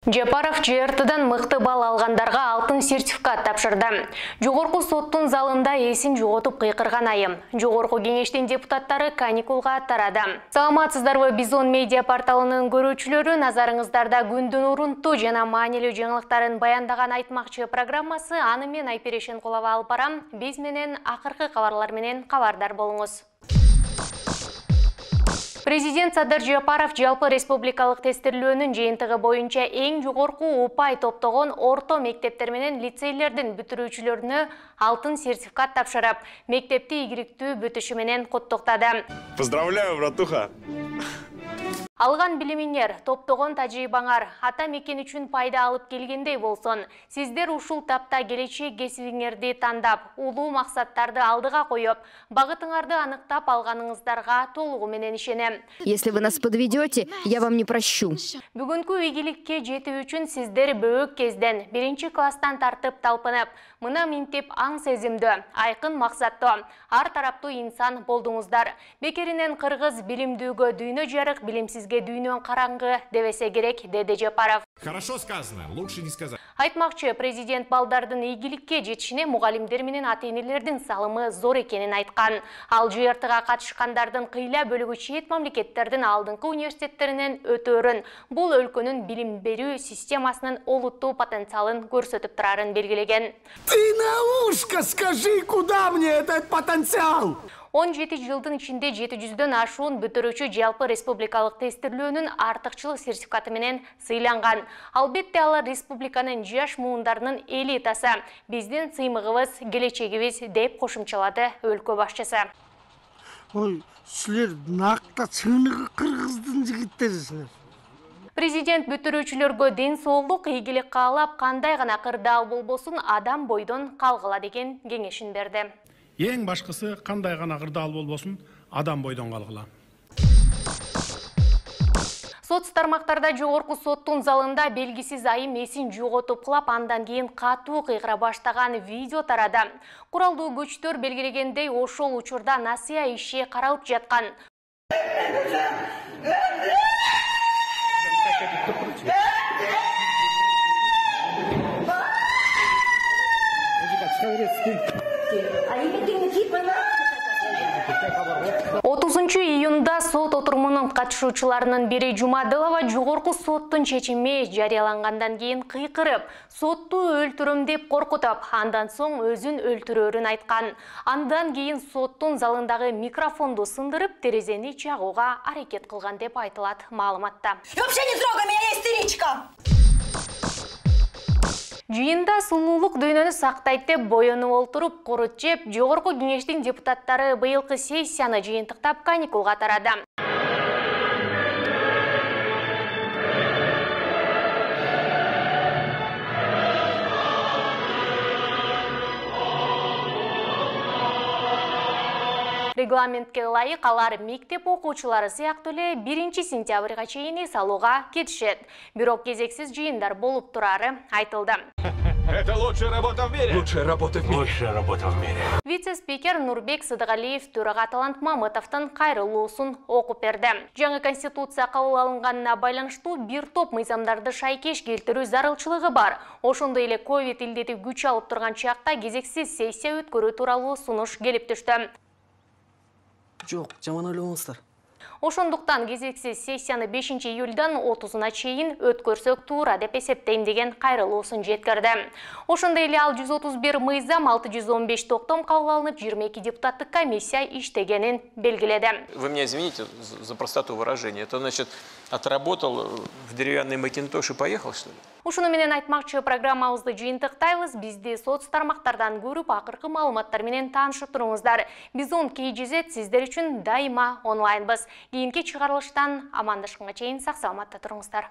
Жапаров ЖРТдан мыкты балл алгандарга алтын сертификат тапшырды. Жогорку соттун залында эсин жоготуп кыйкырган айым. Жогорку кеңештин депутаттары каникулга тарады. Саламатсыздарбы, Бизон медиа порталынын көрүүчүлөрү, назарыңыздарда күндүн урунтуу жана маанилүү жаңылыктарын баяндаган айтмакчы программасы. Аны мен Айперешин Кулова алып барам. Биз менен акыркы кабарлар менен кабардар болуңуз. Президент Садыр Жапаров жалпы республикалык тестирлөөнүн жыйынтыгы боюнча эң жогорку упай топтогон орто мектептер менен лицейлердин бүтүрүүчүлөрүнө алтын сертификат тапшырып, мектепти ийгиликтүү бүтүшү менен куттуктады. Поздравляю, братуха! Алган билимиңер, топтогон тажрыйбаңар ата мекен үчүн пайда алып келгендей болсун. Сиздер ушул тапта келечек кесибиңерди тандап, улуу максаттарды алдыга коюп, багытыңарды аныктап алганыңыздарга толугу менен ишенем. Если вы нас подведете, я вам не прощу. Бүгүнкү ийгиликке жетүү үчүн сиздер бөөк кезден, 1-класстан тартып талпынып, мына минтип аң сезимдүү, айкын максаттуу, ар тараптуу инсан болдуңуздар. Бекеринен кыргыз билимдүүгө дүйнө жарык, билимсизге дүйнө караңгы дебесе керек, деди Жапаров. Хорошо сказано, лучше не сказать. Айтмакчы, президент балдардын ийгиликке жетишине мугалимдер менен ата-энелердин салымы зор экенин айткан. Ал ЖРТга катышкандардын кыйла бөлүгү чет мамлекеттердин алдыңкы университеттеринен өтөөрүн, бул өлкөнүн билим берүү системасынын олуттуу потенциалын көрсөтүп турарын белгилеген. Ты на ушко скажи, куда мне этот потенциал? 17 жылдын ичинде 700дөн ашуун бүтүрүүчү жалпы республикалык тестирлөөнүн артыкчылык сертификаты менен сыйланган. Албетте алар республиканын жаш муундарынын элитасы, биздин сыймыгыбыз, келечегибиз, деп кошумчалады өлкө башчысы. Ой, силер накта чыныгы кыргыздын жигиттерисиңер. Президент бүтүрүүчүлөргө ден соолук, ийгилик каалап, кандай гана кырдаал болбосун адам бойдон калгыла деген кеңешин берди. Ең башкысы, кандай гана кырдаал болбосун, адам бойдон калгыла. Сот тармактарда жогорку соттун залында белгисиз айым эсин жоготуп кылап, андан кийин катуу кыйкыра баштаган видео тарады. Куралдуу күчтөр белгилегендей, ошол учурда насыя иши каралып жаткан. Июнда сот отурумунун катышуучуларынын бири Жумадылова жогорку соттун чечими жарыялангандан кийин кыйкырып, сотту өлтүрөм деп коркутуп, андан соң өзүн өлтүрөөрүн айткан. Андан кийин соттун залындагы микрофонду сындырып, терезени жагууга аракет кылган деп айтылат маалыматта. Вообще не трогай меня, я истеричка! Жыйында сулуулук дүйнөнү сактайт деп боюнуп олтуруп, корут жеп, жогорку кеңештин депутаттары быйылкы сессияны жыйынтыктап каникулга тарады. Регламентке ылайык алар мектеп окуучулары сыяктуу эле 1-сентябрга чейин эс алууга кетишет. Бирок кезексиз жыйындар болуп турары айтылды. Это лучшая работа в мире. Лучшая работа в мире. Лучшая работа в мире. Вице-спикер Нурбек Сыдыгалиев төрага Талант Мамытовдун кайрылуусун окуп берди. Жаңы конституция кабыл алынганына байланыштуу бир топ мыйзамдарды шайкеш келтирүү зарылчылыгы бар. Ошондой эле ковид илдети күч алып турган чакта кезексиз сессия өткөрүү тууралуу сунуш келип түштү. Жок, жаман ойлобоңуздар. Ошондуктан кезексиз сессияны 5-июлдан 30-на чейин өткөрсөк туура деп эсептейм деген кайрылуусун жеткирди. Ошондой эле ал 131 мыйзам, 615 токтом кабыл алынып, 22 депутаттык комиссия иштегенин белгиледи. Вы меня извините за простоту выражения. Это значит, отработал в деревянный макинтош и поехал, что ли? Ушуну менен айтмакчы программабызды жыйынтыктайбыз. Бизди соц тармактардан көрүп, акыркы маалыматтар менен таанышып туруңуздар. Бизон KGZ сиздер үчүн дайыма онлайнбыз. Кийинки чыгарылыштан амандашканга чейин сак саламатта туруңуздар.